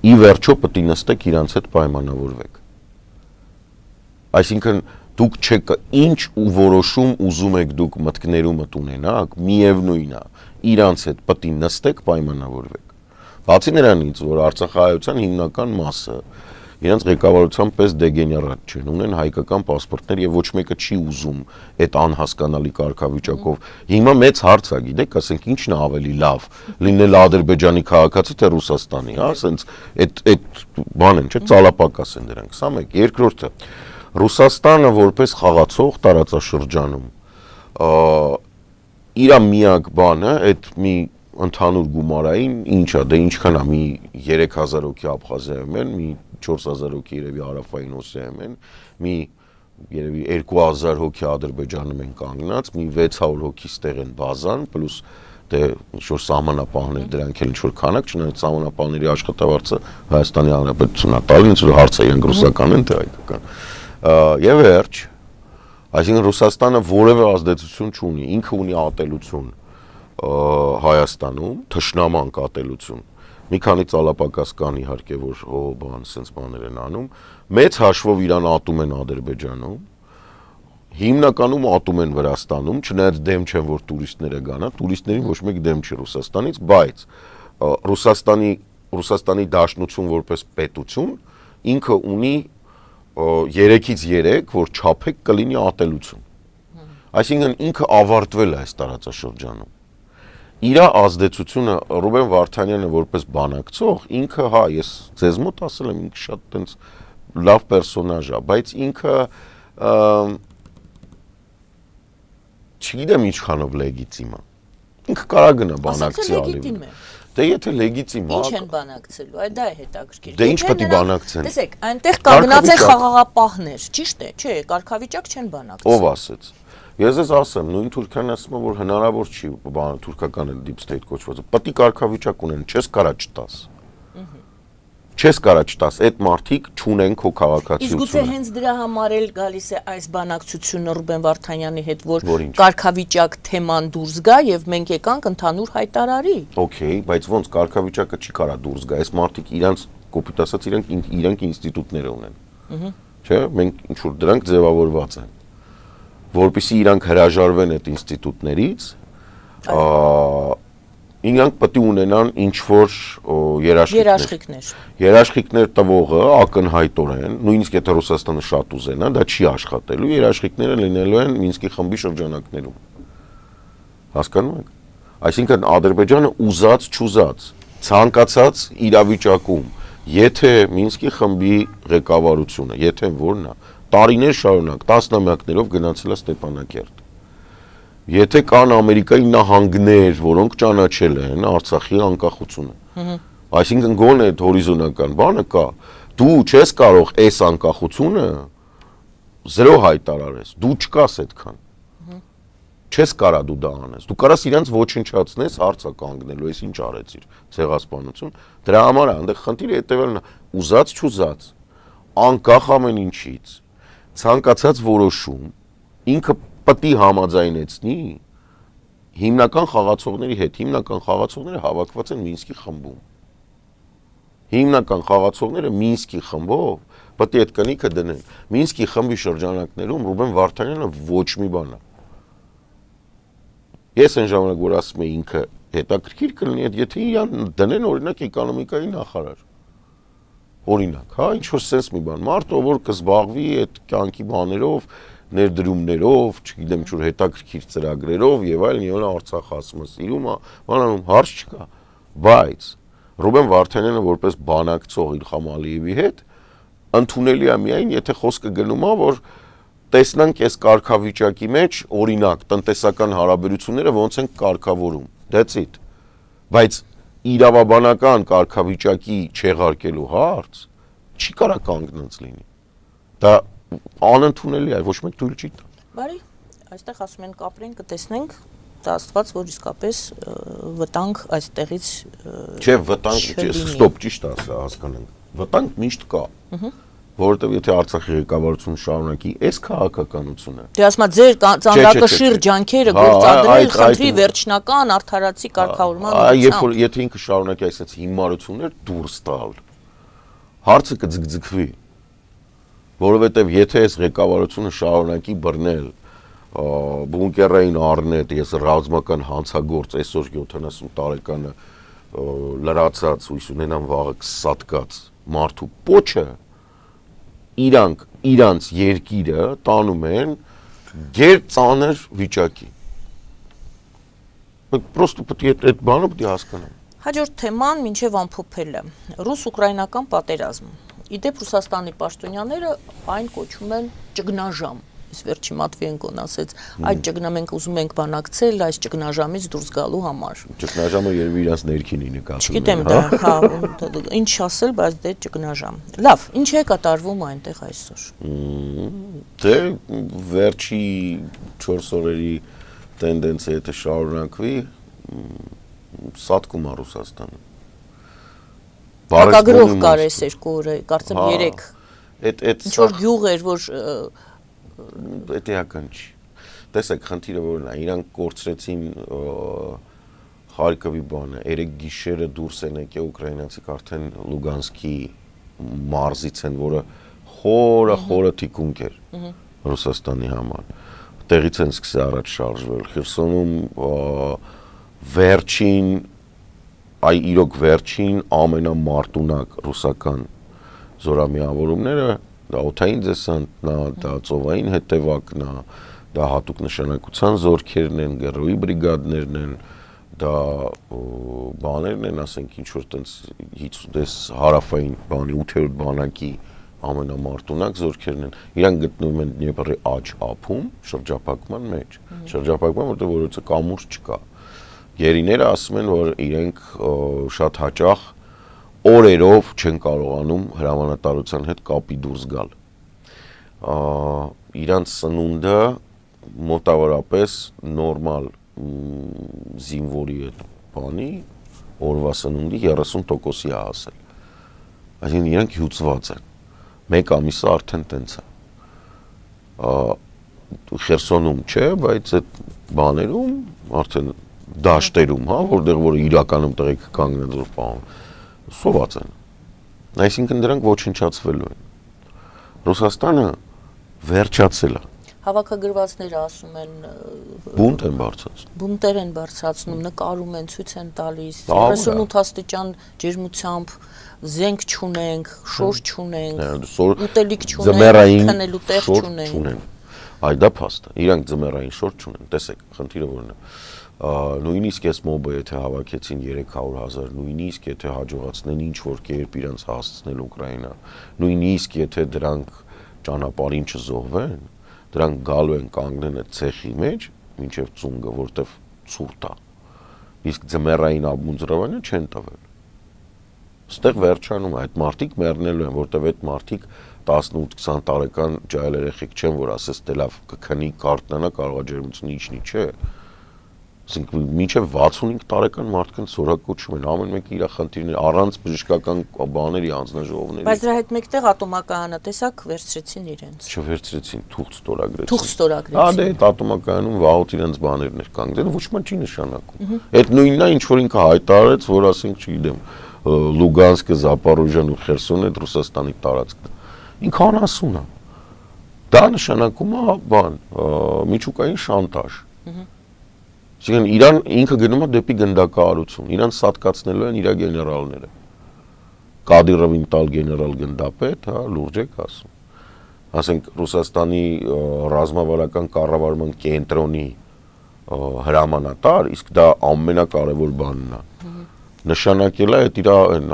ի վերջո պետք է նստեք իրանց հետ պայմանավորվեք։ Այսինքն դուք չեք ինչ ու որոշում ուզում եք դուք մտքներումդ ունենաք, միևնույն է, իրանց հետ պետք է նստեք պայմանավորվեք։ Բացի նրանից, որ Արցախահայության հիմնական մասը իրենց ղեկավարության պես դեգեներատ չեն, ունեն հայկական պասպորտներ եւ ոչ մեկը չի ուզում այդ անհասկանալի կարգավիճակով։ Հիմա մեծ հարց է, գիտեք, ասենք ինչն է ավելի լավ, լինել Ադրբեջանի քաղաքացի թե Ռուսաստանի, հա, ասենց այդ այդ բան են, չէ՞, ծալապակաս են դրանք։ Սա մեկ, երկրորդը Ռուսաստանը որպես խաղացող տարածաշրջանում իր միակ բանը այդ մի ընդհանուր գումարային ինչա, դե ինչքան է, մի երեք հազար հոգի Աբխազիայում են, մի չորս հազար հոգի երևի Հարավային Օսիայում են, մի երևի երկու հազար հոգի Ադրբեջանում են կանգնած, մի վեց հարյուր հոգի ստեղ են բազան, պլյուս դե ինչ-որ սահմանապահներ դրանք էլ ինչ-որ քանակ, չնայած սահմանապահների աշխատավարձը Հայաստանի Հանրապետությունն է տալին, ինչ-որ հարցը իրենք ռուսական են թե հայկական։ Եվ վերջ, այսինքն Ռուսաստանը որևէ ազդեցություն չունի, ինքը ունի ատելություն Հայաստանում, թշնամանք ատելություն, մի քանի ծալապակաս կան իհարկե, որ հո բան, սենց բաներ են անում, մեծ հաշվով իրան ատում են Ադրբեջանում, հիմնականում ատում են Վրաստանում, չնայած դեմ չեն, որ տուրիստները գանա, տուրիստներին ոչ մեկ դեմ չի Ռուսաստանից, բայց Ռուսաստանի, Ռուսաստանի Դաշնություն որպես պետություն, ինքը ունի երեքից երեք, որ չափեք կլինի ատելություն, այսինքն ինքը ավարտվել է այս տարածաշրջանում, իր ազդեցությունը Ռուբեն Վարդանյանը որպես բանակցող, ինքը հա, ես ձեզ մոտ ասել եմ, ինքը շատ տենց լավ պերսոնաժ է, բայց ինքը չգիտեմ ինչքանով լեգիտիմ է։ Ինքը կարա գնա բանակցի ալիվ։ Դե եթե լեգիտիմ է։ Ինչ են բանակցելու, այդ դա է հետաքրքիր։ Դե ինչ պետք է բանակցեն։ Տեսեք, այնտեղ կանգնած են խաղաղապահներ, ճիշտ է, չէ, կարգավիճակ չեն բանակցել։ Ով ասեց։ Ես ես ասեմ, նույն Թուրքիան ասում է, որ հնարավոր չի բան թուրքական deep state կոչվածը։ Պետք է կարգավիճակ ունեն, չես կարա չտաս։ Չես կարա չտաս, այդ մարդիկ չունեն քո քաղաքացիությունը։ Իսկ գուցե հենց դրա համար էլ գալիս է այս բանակցությունը Ռուբեն Վարդանյանի հետ, որ կարգավիճակ թեման դուրս գա եւ մենք եկանք ընդհանուր հայտարարի։ Okay, բայց ոնց կարգավիճակը չի կարա դուրս գա, այս մարդիկ իրանց կոպիտ ասած իրանք իրանք ինստիտուտներ ունեն։ Չէ՞, մենք ինչ որ դրանք ձևավորված են, որպեսզի իրանք հրաժարվեն այդ ինստիտուտներից, իրանք պետք է ունենան ինչ-որ երաշխիքներ։ Երաշխիքներ տվողը ակնհայտորեն, նույնիսկ եթե Ռուսաստանը շատ ուզենա, դա չի աշխատելու, երաշխիքները լինելու են Մինսկի խմբի շրջանակներում։ Հասկանում եք։ Այսինքն Ադրբեջանը ուզած չուզած, ցանկացած իրավիճակում, եթե Մինսկի խմբի ղեկավարությունը, եթե որն է, տարիներ շարունակ, տասնամյակներով գնացել է Ստեփանակերտ։ Եթե կան Ամերիկայի նահանգներ, որոնք ճանաչել են Արցախի անկախությունը։ Այսինքն գոնե այդ հորիզոնական բանը կա, դու չես կարող այս անկախությունը զրո հայտարարես, դու չկաս այդքան։ Չես կարա դու դա անես։ Դու կարաս իրենց ոչնչացնես հարցը կանգնելու, ես ինչ արեցիր, ցեղասպանություն։ Դրա համար է, այնտեղ խնդիրը հետևելն է, ուզած չուզած, անկախ ամեն ինչից, ցանկացած որոշում ինքը պետք է համաձայնեցնի հիմնական խաղացողների հետ, հիմնական խաղացողները հավաքված են Մինսկի խմբում։ Հիմնական խաղացողները Մինսկի խմբով պետք է այդ կնիքը դնեն։ Մինսկի խմբի շրջանակներում Ռուբեն Վարդանյանը ոչ մի բան է։ Ես այն ժամանակ որ ասում եմ ինքը հետաքրքիր կլինի, եթե իրան դնեն օրինակ էկոնոմիկայի նախարար։ Օրինակ, հա, ինչ որ sense մի բան, մարդը որ կզբաղվի այդ կյանքի բաներով, ներդրումներով, չգիտեմ ինչ որ հետաքրքիր ծրագրերով եւ այլն, եւ Արցախ ասում է, սիրում է, բանանում հարց չկա, բայց Ռուբեն Վարդանյանը որպես բանակցող Իլխամ Ալիևի հետ ընդունելի է միայն, եթե խոսքը գնում է, որ տեսնանք այս կարգավիճակի մեջ օրինակ տնտեսական հարաբերությունները ոնց են կարգավորում։ That's it։ Բայց իրավաբանական կարգավիճակի չեղարկելու հարց չի կարա կանգնած լինի։ Դա անընդունելի է, ոչ մեկ թույլ չի տա։ Բարի, այստեղ ասում են կապրենք, կտեսնենք, դա Աստված, որ իսկապես վտանգ այստեղից Չէ, վտանգ, ստոպ, ճիշտ ասա, հասկանանք։ Վտանգ միշտ կա։ Որովհետև եթե Արցախի ղեկավարությունը շարունակի այս քաղաքականությունը։ Դե ասма ձեր ծանրակշիռ ջանքերը գործադրել խնդրի վերջնական արդարացի կարգավորման ուղղությամբ։ Երբ որ եթե ինքը շարունակի այսպես հիմարություններ դուրս տալ, հարցը կձգձգվի։ Որովհետև եթե այս ղեկավարությունը շարունակի բռնել բունկերային առնետ, ես ռազմական հանցագործ այսօր յոթանասուն տարեկանը լրացած հույս ունենամ վաղը կսատկած մարդու պոչը իրանք իրանց երկիրը տանում են գեր ծանր վիճակի։ Պրոստը պետք է այդ բանը պետք է հասկանամ։ Հաջորդ թեման մինչև ամփոփելը ռուս-ուկրաինական պատերազմ։ Իդեպ Ռուսաստանի պաշտոնյաները այն կոչում են ճգնաժամ։ Այս վերջի Մատվիենկոն ասեց, այդ ճգնամենք ուզում ենք բանակցել այս ճգնաժամից դուրս գալու համար։ Ճգնաժամը երևի իրաց ներքինի նկատում է։ Չգիտեմ դա, հա, ինչ ասել, բայց դե ճգնաժամ։ Լավ, ինչ է կատարվում այնտեղ այսօր։ Դե վերջի չորս օրերի տենդենսը եթե շարունակվի, սատկում է Ռուսաստանը։ Հակագրող կար այս երկու օրը, կարծեմ երեք։ Ինչ որ գյուղ էր, որ Դա էական չի։ Տեսեք, խնդիրը որն է, իրանք կորցրեցին Խարկովի բանը, երեք գիշերը դուրս են եկել ուկրաինացիք արդեն Լուգանսկի մարզից են, որը խորը խորը թիկունք էր Ռուսաստանի համար։ Տեղից են սկսել առաջ շարժվել։ Խերսոնում վերջին, այ իրոք վերջին ամենամարտունակ ռուսական զորամիավորումները դա օդային դեսանտն է, դա ծովային հետևակն է, դա հատուկ նշանակության զորքերն են, գերոյի բրիգադներն են, դա բաներն են, ասենք ինչ որ տենց հիցուդես հարավային բանի ութերորդ բանակի ամենամարտունակ զորքերն են, իրանք գտնվում են Դնեպրի աջ ափում, շրջափակման մեջ, շրջափակման, որտեղ որոցը կամուրջ չկա։ Գերիները ասում են, որ իրենք շատ հաճախ օրերով չեն կարողանում հրամանատարության հետ կապի դուրս գալ։ Իրանց սնունդը մոտավորապես նորմալ զինվորի այդ բանի օրվա սնունդի երեսուն տոկոսի է հասել։ Այսինքն իրանք հյուծված են։ Մեկ ամիսը արդեն տենց է։ Խերսոնում չէ, բայց այդ բաներում արդեն դաշտերում, հա, որտեղ որ իրականում տեղիքը կանգնած որ պահում, սոված են։ Այսինքն դրանք ոչնչացվելու են։ Ռուսաստանը վերջացել է։ Հավաքագրվածները ասում են բունտ են բարձրացնում։ Բունտեր են բարձրացնում, նկարում են, ցույց են տալիս, երեսունութ աստիճան ջերմությամբ զենք չունենք, շոր չունենք, ուտելիք չունենք, քնելու տեղ չունենք։ Այ դա փաստ է։ Իրանք ձմեռային շոր չունեն։ Տեսեք, խնդիրը որն է։ Նույնիսկ այս մոբը եթե հավաքեցին երեք հարյուր հազար, նույնիսկ եթե հաջողացնեն ինչ որ կերպ իրանց հասցնել Ուկրաինա, նույնիսկ եթե դրանք ճանապարհին չզոհվեն, դրանք գալու են կանգնեն այդ ցեխի մեջ, մինչև ծունգը, որտեվ ցուրտ է։ Իսկ ձմեռային աբմունձրավանը չեն տվել։ Ստեղ վերջանում այդ մարդիկ մեռնելու են, որտեվ այդ մարդիկ տասնութ-քսան տարեկան ջահել երեխեք չեն, որ ասես դե լավ կքնի կարտնանա, կարող է ջերմությունը իջնի, չէ։ Ասենք մինչև վաթսունհինգ տարեկան մարդկանց սորակոչում են, ամեն մեկը իր խնդիրներ առանց բժշկական բաների անձնաժողովների։ Բայց դրա հետ մեկտեղ ատոմակայանը տեսակ վերցրեցին իրենց։ Չվերցրեցին, թուղթ ստորագրեցին։ Թուղթ ստորագրեցին։ Հա դե այդ ատոմակայանում վաղուց իրենց բաներն էր կանգնել, ոչ մի չի նշանակում։ Այդ նույնն է, ինչ որ ինքը հայտարարեց, որ ասենք չգիտեմ, Լուգանսկը, Զապորոժիան ու Խերսոնը Ռուսաստանի տարածքն է։ Ինքը անասուն է։ Դա նշանակում է բան, միջուկային շանտաժ։ Այսինքն Իրան ինքը գնում է դեպի գնդակահարություն, իրան սատկացնելու են իր գեներալները։ Կադիրովին տալ գեներալ գնդապետ, հա, լուրջ եք ասում։ Ասենք Ռուսաստանի ռազմավարական կառավարման կենտրոնի հրամանատար, իսկ դա ամենակարևոր բանն է։ Նշանակել է այդ իր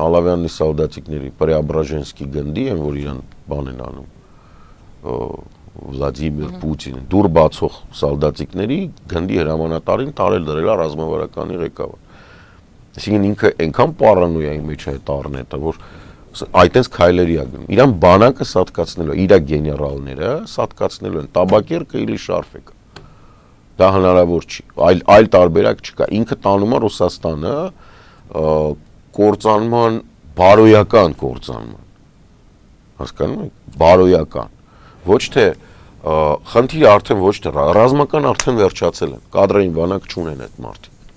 Ալավյանի սալդատիկների Պրեաբրաժենսկի գնդի են, որ իրան բան են անում։ Վլադիմիր Պուտինը դուր բացող սալդատիկների գնդի հրամանատարին տարել դրել է ռազմավարականի ղեկավար։ Այսինքն ինքը այնքան պարանոյայի մեջ է տառնետը, որ այդտենց քայլերի է գնում։ Իրան բանակը սատկացնելու, իր գեներալները սատկացնելու են, տաբակերկը իլի շարֆեկը։ Դա հնարավոր չի, այլ այլ տարբերակ չկա։ Ինքը տանում է Ռուսաստանը կործանման, բարոյական կործանման։ Հասկանում եք, բարոյական։ Ոչ թե խնդիրը արդեն ոչ թե ռազմական արդեն վերջացել են, կադրային բանակ չունեն այդ մարդիկ։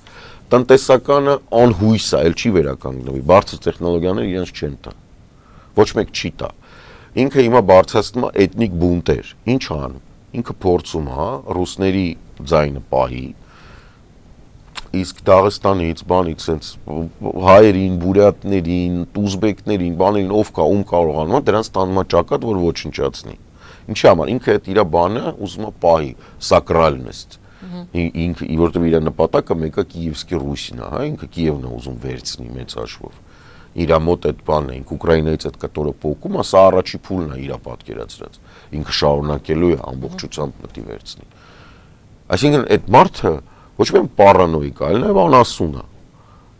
Տնտեսականը անհույս է, էլ չի վերականգնվի, բարձր տեխնոլոգիաները իրենց չեն տա։ Ոչ մեկ չի տա։ Ինքը հիմա բարձրացնում է էթնիկ բունտեր։ Ինչ անում։ Ինքը փորձում է ռուսների ձայնը պահի, իսկ Դաղստանից, բանից, sense հայերին, բուրյատներին, ուզբեկներին, բաներին ով կա, ում կարողանում է, դրանց տանում է ճակատ, որ ոչնչացնի։ Ինչի համար ինքը այդ իր բանը ուզում է պահի, սակրալնեստ։ Ինքը որտեղ իր նպատակը մեկը Կիևսկի Ռուսին է, հա, ինքը Կիևն է ուզում վերցնի մեծ հաշվով։ Իր մոտ այդ բանն է, ինքը Ուկրաինայից այդ կտորը փոկում, սա առաջի փուլն է իր պատկերացրած։ Ինքը շարունակելու է ամբողջությամբ պետք է վերցնի։ Այսինքն այդ մարդը ոչ միայն պարանոիկ, այլ նաև անասուն է։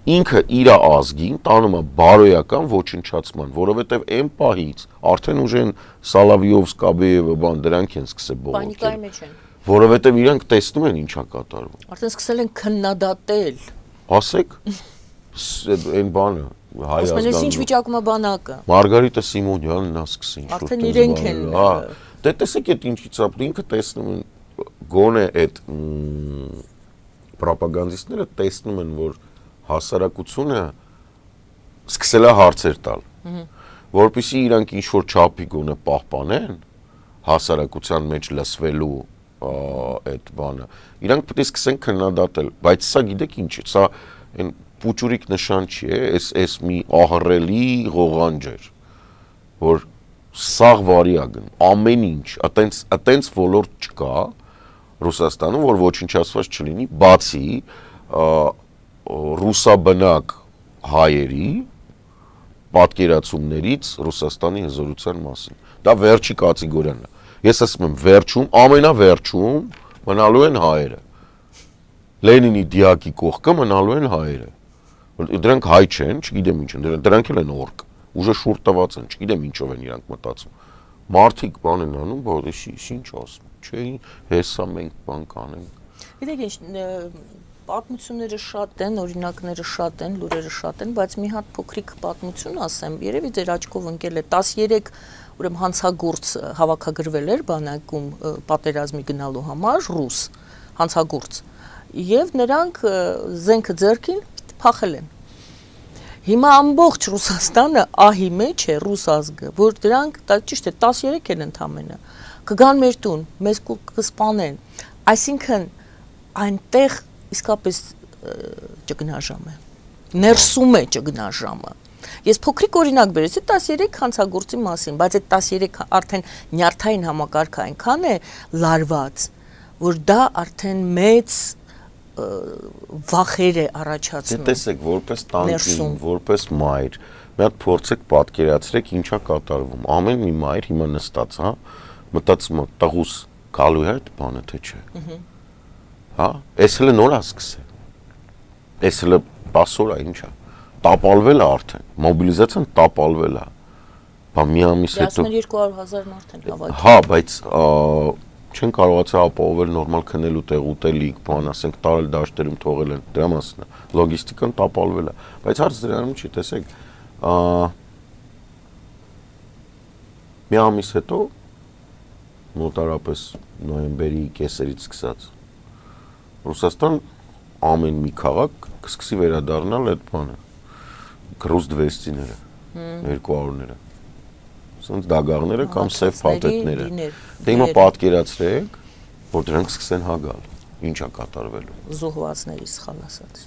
Ինքը իր ազգին տանում է բարոյական ոչնչացման, որովհետև այն պահից արդեն ուժեն Սալավիով, Սկաբեևը, բան դրանք են սկսել բողոքել։ Պանիկայի մեջ են։ Որովհետև իրանք տեսնում են ինչա կատարվում։ Արդեն սկսել են քննադատել։ Ասեք, այն բանը հայ ազգանուն։ Ասում են, ինչ վիճակում է բանակը։ Մարգարիտա Սիմոնյանն նա սկսին։ Արդեն իրենք են։ Հա, դե տեսեք այդ ինչից է, ինքը տեսնում են գոնե այդ պրոպագանդիստները տեսնում են, որ հասարակությունը սկսել է հարցեր տալ, որպեսզի իրանք ինչ-որ չափի գոնե պահպանեն հասարակության մեջ լսվելու այդ բանը, իրանք պետք է սկսեն քննադատել, բայց սա գիտեք ինչ է, սա այն պուճուրիկ նշան չի է, այս այս մի ահռելի ղողանջ էր, որ սաղ վարի է գնում, ամեն ինչ, այտենց այտենց ոլորտ չկա Ռուսաստանում, որ ոչնչացված չլինի, բացի ռուսաբնակ հայերի պատկերացումներից Ռուսաստանի հզորության մասին։ Դա վերջի կատեգորիան է։ Ես ասում եմ վերջում, ամենավերջում մնալու են հայերը։ Լենինի դիակի կողքը մնալու են հայերը։ Դրանք հայ չեն, չգիտեմ ինչ են, դրանք էլ են օրկ։ Ուժը շուրջ տված են, չգիտեմ ինչով են իրանք մտածում։ Մարդիկ բան են անում, բայց ինչ ասում, չէ, հեսա մենք բան կանենք։ Գիտեք ինչ, պատմությունները շատ են, օրինակները շատ են, լուրերը շատ են, բայց մի հատ փոքրիկ պատմություն ասեմ, երևի ձեր աչքով ընկել է տասներեք ուրեմն հանցագործ հավաքագրվել էր բանակում պատերազմի գնալու համար ռուս հանցագործ եւ նրանք զենքը ձեռքին փախել են։ Հիմա ամբողջ Ռուսաստանը ահի մեջ է ռուս ազգը, որ դրանք ճիշտ է տասներեք են ընդամենը կգան մեր տուն, մեզ կսպանեն, այսինքն այնտեղ իսկապես ճգնաժամ է, ներսում է ճգնաժամը։ Ես փոքրիկ օրինակ բերեցի տասներեք հանցագործի մասին, բայց այդ տասներեք արդեն նյարդային համակարգը այնքան է լարված, որ դա արդեն մեծ վախեր է առաջացնում։ Տեսեք, որպես տանկին, որպես մայր, մի հատ փորձեք պատկերացրեք ինչա կատարվում։ Ամեն մի մայր հիմա նստած, հա, մտածում է տղուս գալու է այդ բանը թե չէ։ Հա, էս հələ նոր է սկսել։ Էս հələ տասը օր է ինչա։ Տապալվել է արդեն, մոբիլիզացիան տապալվել է։ Բա մի ամիս հետո երկու հարյուր հազար մարդ են հավաքել։ Հա, բայց չեն կարողացել ապահովել նորմալ քնելու տեղ, ուտելիք, բան, ասենք տարել դաշտերում թողել են, դրա մասն է։ Լոգիստիկան տապալվել է։ Բայց հարց դրանում չի, տեսեք, մի ամիս հետո մոտարապես նոյեմբերի կեսերից սկսած Ռուսաստան ամեն մի քաղաք կսկսի վերադառնալ այդ բանը, գրուզ դվեսցիները, երկու հարյուրները, սենց դագաղները կամ սև փաթեթները։ Դե հիմա պատկերացրեք, որ դրանք սկսեն հագալ, ինչա կատարվելու։ Զոհվածների սխալ ասած,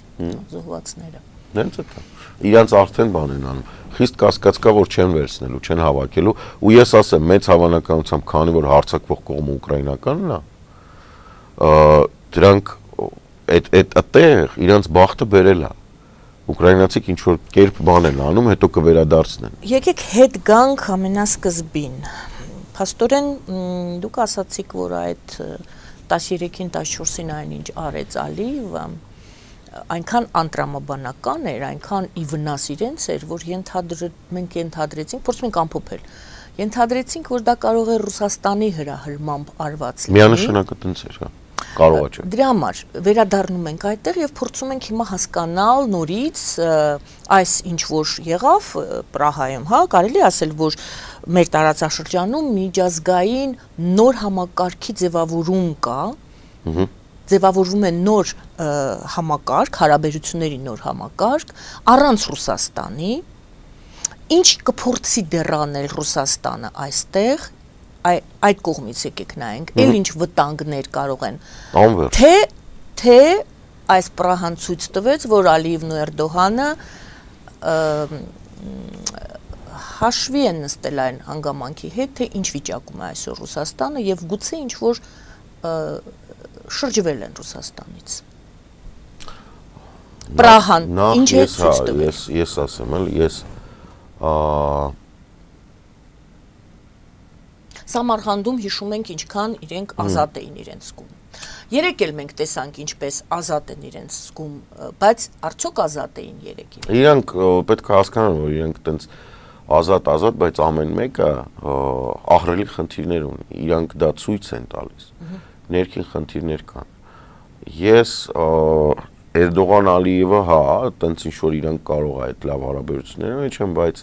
զոհվածները։ Նենց է դա։ Իրանց արդեն բան են անում։ Խիստ կասկած կա, որ չեն վերցնելու, չեն հավաքելու, ու ես ասեմ, մեծ հավանականությամբ, քանի որ հարձակվող կողմը ուկրաինականն է, դրանք այդ այդ այդտեղ իրանց բախտը բերել է։ Ուկրաինացիք ինչ որ կերպ բան են անում, հետո կվերադարձնեն։ Եկեք հետ գանք ամենասկզբին։ Փաստորեն դուք ասացիք, որ այդ տասներեքին տասնչորսին այն ինչ արեց Ալիևը, այնքան անտրամաբանական էր, այնքան ի վնաս իրենց էր, որ մենք ենթադրեցինք, փորձում ենք ամփոփել։ Ենթադրեցինք, որ դա կարող է Ռուսաստանի հրահրմամբ արված լինի։ Միանշանակ այդպես էր, հա։ Կարող է։ Դրա համար վերադառնում ենք այդտեղ եւ փորձում ենք հիմա հասկանալ նորից այս ինչ որ եղավ Պրահայում, հա, կարելի ասել, որ մեր տարածաշրջանում միջազգային նոր համակարգի ձևավորում կա, ձևավորվում է նոր համակարգ, հարաբերությունների նոր համակարգ առանց Ռուսաստանի, ինչ կփորձի դեռ անել Ռուսաստանը այստեղ այդ կողմից եկեք նայենք, էլ ինչ վտանգներ կարող են, թե թե այս Պրահան ցույց տվեց, որ Ալիևն ու Էրդողանը հաշվի են նստել այն հանգամանքի հետ, թե ինչ վիճակում է այսօր Ռուսաստանը եւ գուցե ինչ որ շրջվել են Ռուսաստանից։ Պրահան ինչ է ցույց տվել։ Ես ես ասեմ, էլ ես Սամարխանդում հիշում ենք ինչքան իրենք ազատ էին իրենց զգում։ Երեք էլ մենք տեսանք ինչպես ազատ են իրենց զգում, բայց արդյոք ազատ էին երեքին։ Իրանք պետք է հասկանան, որ իրենք տենց ազատ-ազատ, բայց ամեն մեկը ահռելի խնդիրներ ունի։ Իրանք դա ցույց են տալիս։ Ներքին խնդիրներ կան։ Ես Էրդողան Ալիևը, հա, տենց ինչ որ իրանք կարող է այդ լավ հարաբերությունները մեջ են, բայց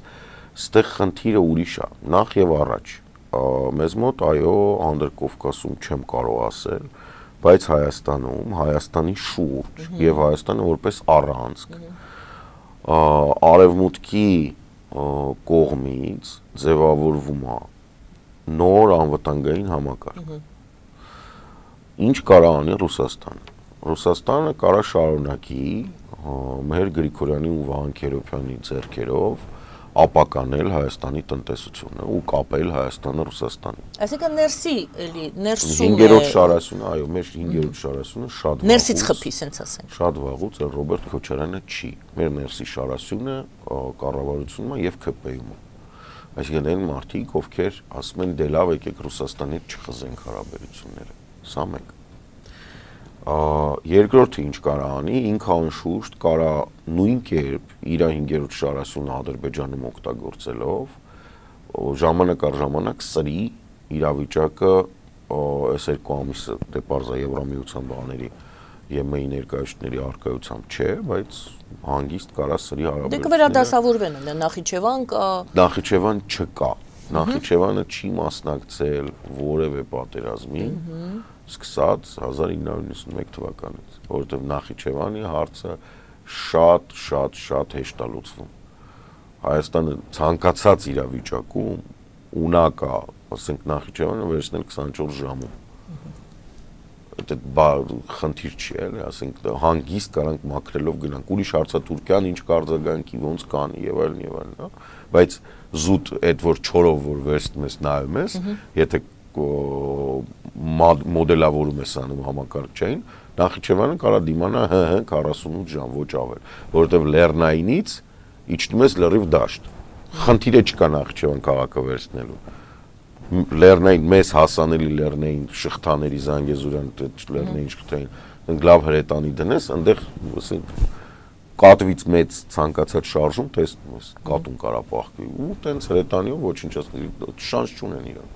ստեղ խնդիրը ուրիշ է։ Նախ եւ առաջ մեզ մոտ այո Անդրկովկասում չեմ կարող ասել, բայց Հայաստանում, Հայաստանի շուրջ եւ Հայաստանը որպես առանցք արևմուտքի կողմից ձևավորվում է նոր անվտանգային համակարգ։ Ինչ կարա անի Ռուսաստանը։ Ռուսաստանը կարա շարունակի մեր Գրիգորյանի ու Վահան Քերոբյանի ձեռքերով ապականել Հայաստանի տնտեսությունը ու կապել Հայաստանը Ռուսաստանի։ Այսինքն ներսի էլի ներսում հինգերորդ շարասյունը, այո, մեր հինգերորդ շարասյունը շատ վաղուց ներսից խփի, ասենց ասենք։ Շատ վաղուց է Ռոբերտ Քոչարյանը չի։ Մեր ներսի շարասյունը կառավարությունն է եւ ՔՊ-ում է։ Այսինքն այն մարդիկ, ովքեր ասում են դե լավ եկեք Ռուսաստանի հետ չխզենք հարաբերությունները։ Սա մեկ։ Երկրորդը ինչ կարա անի, ինքը անշուշտ կարա նույն կերպ իր հինգերորդ շարասյունը Ադրբեջանում օգտագործելով ժամանակ առ ժամանակ սրի իրավիճակը այս երկու ամիսը դե պարզա Եվրամիության բաների ԵՄ-ի ներկայացուցիչների արկայությամբ չէ, բայց հանգիստ կարա սրի հարաբերությունները։ Դե կվերադասավորվեն ընդ Նախիջևան կա։ Նախիջևան չկա։ Նախիջևանը չի մասնակցել որևէ պատերազմի, սկսած հազար ինը հարյուր նվեցունմեկ թվականից, որովհետև Նախիջևանի հարցը շատ, շատ, շատ հեշտ է լուծվում։ Հայաստանը ցանկացած իրավիճակում ունա կա, ասենք Նախիջևանը վերցնել քսանչորս ժամում։ Դա խնդիր չի, էլի, ասենք հանգիստ կարանք մաքրելով գնանք։ Ուրիշ հարցը Թուրքիան ինչ կարձագանքի, ոնց կանի եւ այլն եւ այլն, հա։ Բայց զուտ այդ որ չորով որ վերցնում ես նայում ես, եթե մոդելավորում ես անում համակարգչային, Նախիջևանը կարա դիմանա հ քառասունութ ժամ, ոչ ավել, որովհետև Լեռնայինից իջնում ես լրիվ դաշտ։ Խնդիրը չկա Նախիջևան քաղաքը վերցնելու։ Լեռնային մեզ հասանելի լեռնային շղթաների Զանգեզուրյան լեռնային շղթային լավ հրետանի դնես, այնտեղ ասենք կատվից մեծ ցանկացած շարժում տեսնում ես, կատուն կարա պահկվի ու տենց հրետանիով ոչինչ շանս չունեն իրանք։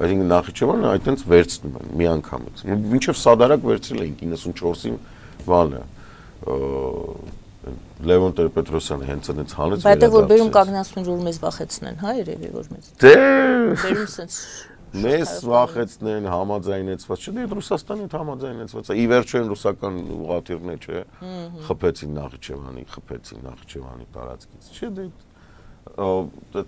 Այսինքն Նախիջևանը այդտենց վերցնում են մի անգամից։ Մինչև Սադարակ վերցրել էին իննսունչորսի բանը Լևոն Տեր-Պետրոսյանը հենց այնց հանեց վերադարձել։ Բայց որ բերում կանգնացնում որ մեզ վախեցնեն, հա, երևի որ մեզ։ Դե բերում sense մեզ վախեցնեն, համաձայնեցված, չէ՞, դե Ռուսաստանի հետ համաձայնեցված է։ Ի վերջո են ռուսական ուղղաթիռն է, չէ՞, խփեցին Նախիջևանի, խփեցին Նախիջևանի տարածքից, չէ՞, դե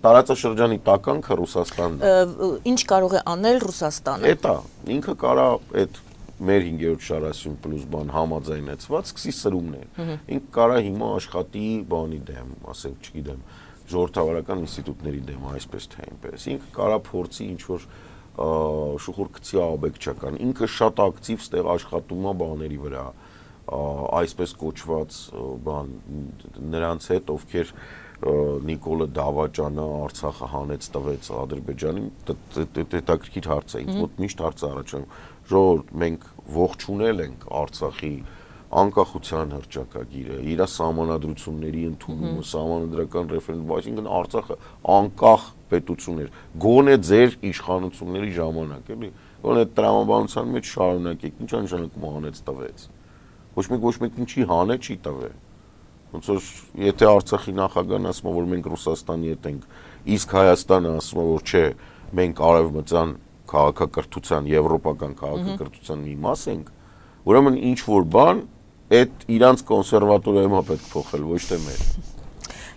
տարածաշրջանի տականքը Ռուսաստանն է։ Ինչ կարող է անել Ռուսաստանը։ Էտա, ինքը կարա այդ մեր հինգերորդ շարասյուն պլյուս բան համաձայնեցված սկսի սրումներ։ Ինքը կարա հիմա աշխատի բանի դեմ, ասենք, չգիտեմ, ժողովրդավարական ինստիտուտների դեմ, այսպես թե այնպես։ Ինքը կարա փորձի ինչ որ շուխուր գցի աբեկչական։ Ինքը շատ ակտիվ ստեղ աշխատում է բաների վրա, այսպես կոչված բան նրանց հետ, ովքեր Նիկոլը Դավաճանը Արցախը հանեց տվեց Ադրբեջանին, հետաքրքիր հարց է, ինձ մոտ միշտ հարց է առաջանում, ժողովուրդ, մենք ողջունել ենք Արցախի անկախության հռչակագիրը, իր սահմանադրությունների ընդունումը, սահմանադրական ռեֆերենդում, այսինքն Արցախը անկախ պետություն էր, գոնե ձեր իշխանությունների ժամանակ, էլի, գոնե տրամաբանության մեջ շարունակեք, ինչ նշանակում հանեց տվեց։ Ոչ մեկ ոչ մեկին չի հանե, չի տվե։ Ոնց որ եթե Արցախի նախագահն ասում է, որ մենք Ռուսաստանի հետ ենք, իսկ Հայաստանը ասում է, որ չէ, մենք արևմտյան քաղաքակրթության, եվրոպական քաղաքակրթության մի մաս ենք, ուրեմն ինչ որ բան այդ իրանց կոնսերվատորիայում է պետք փոխել, ոչ թե մեր։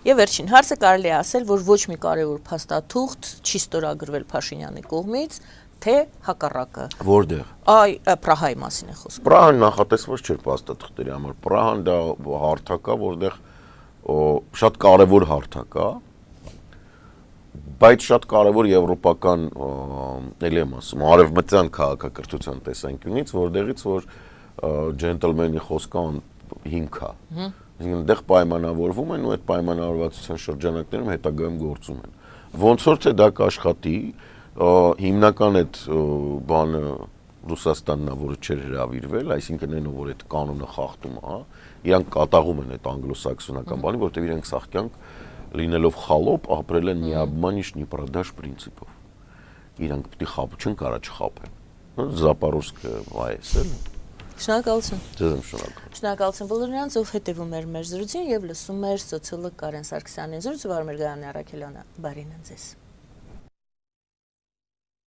Եվ վերջին հարցը կարելի է ասել, որ ոչ մի կարևոր փաստաթուղթ չի ստորագրվել Փաշինյանի կողմից, թե հակառակը։ Որտեղ։ Այ Պրահայի մասին է խոսքը։ Պրահան նախատեսված չէր փաստաթղթերի համար։ Պրահան դա հարթակ է, որտեղ շատ կարևոր հարթակ է, բայց շատ կարևոր եվրոպական էլի եմ ասում, արևմտյան քաղաքակրթության տեսանկյունից, որտեղից որ ջենտլմենի խոսքը հիմք է։ Այսինքն դեղ պայմանավորվում են ու այդ պայմանավորվածության շրջանակներում հետագայում գործում են։ Ոնց որ թե դա կաշխատի, հիմնական այդ բանը Ռուսաստանն է, որը չէր հրավիրվել, այսինքն այն որ այդ կանոնը խախտում է, իրանք կատաղում են այդ անգլոսաքսոնական բանի, որտեղ իրենք սաղկյանք լինելով խալոպ ապրել են միաբմանիշ նիպրադաշ պրինցիպով։ Իրանք պիտի խապ չեն կարա չխապեն։ Զապարոժսկը վայես էլ։ Շնորհակալություն։ Ձեզ եմ շնորհակալ։ Շնորհակալություն բոլորին, ով հետևում էր մեր զրույցին եւ լսում էր սոցիոլոգ Կարեն Սարգսյանի զրույցը, Վարմեր Գայանն Առաքելյանը։ Բարին ձեզ։